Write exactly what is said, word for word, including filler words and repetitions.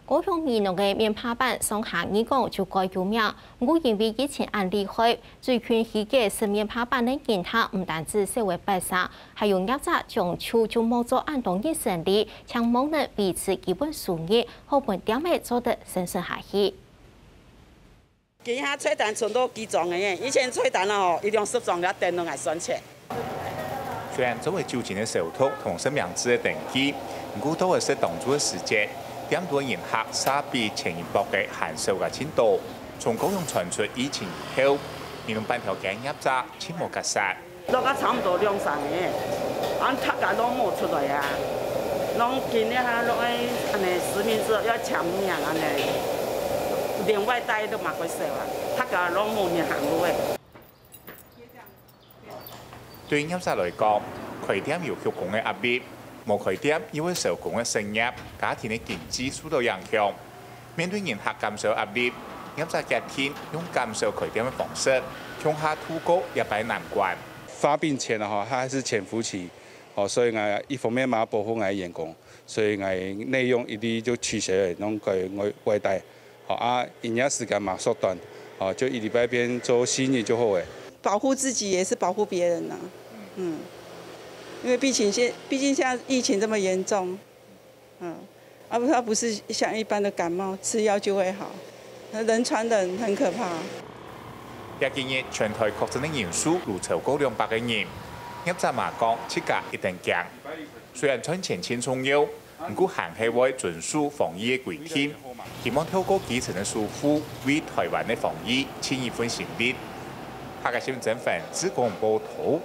高雄美濃个面帕粄上下二講就蓋有名，毋過因為疫情恁厲害，最近起个食面帕粄个人客毋單止少了八成，還有業者將就就無做恁多日生理，淨望能維持基本收入，好分店仔做得生存下去。 今下菜單存到幾張个呢？以前菜單哦，一兩十張也等到𠊎算錢。雖然做為酒精个消毒同實名制个登記，毋過到了食當晝个時節，店肚人客嗄比前一駁个還少个盡多。從高雄傳出疫情以後，美濃粄條街業者盡無結煞。 落啊差毋多兩三個，啊大家攏無出來啊，攏今日哈攏愛恁呢實名制要簽名恁呢，連外帶都嘛會少啊，大家攏無人行路誒。對業者來講，開店有畜工个壓力，無開店又會少工个失業，家庭个經濟受到影響。 面對人客減少壓力，業者決定用減少開店个方式，共下渡過這擺難關。發病前啊，哈，它還是潛伏期，哦，所以呢，一方面嘛保護𠊎个員工，所以𠊎內用一律就取消了，攏改外外帶，好啊，營業時間嘛縮短，哦，就一禮拜變做四日就好了。保護自己也是保護別人啊，嗯，因為畢竟現畢竟現在疫情這麼嚴重， 嗯，啊不，它不是像一般的感冒，吃藥就會好，人傳人很可怕。這幾日全台確診个人數都超過兩百個人，業者嘛講自家一定驚。雖然賺錢盡重要，毋過還係會遵守防疫个規定，希望透過基層个守護，為台灣个防疫盡一份心力。客家新聞曾凡志廣播報導。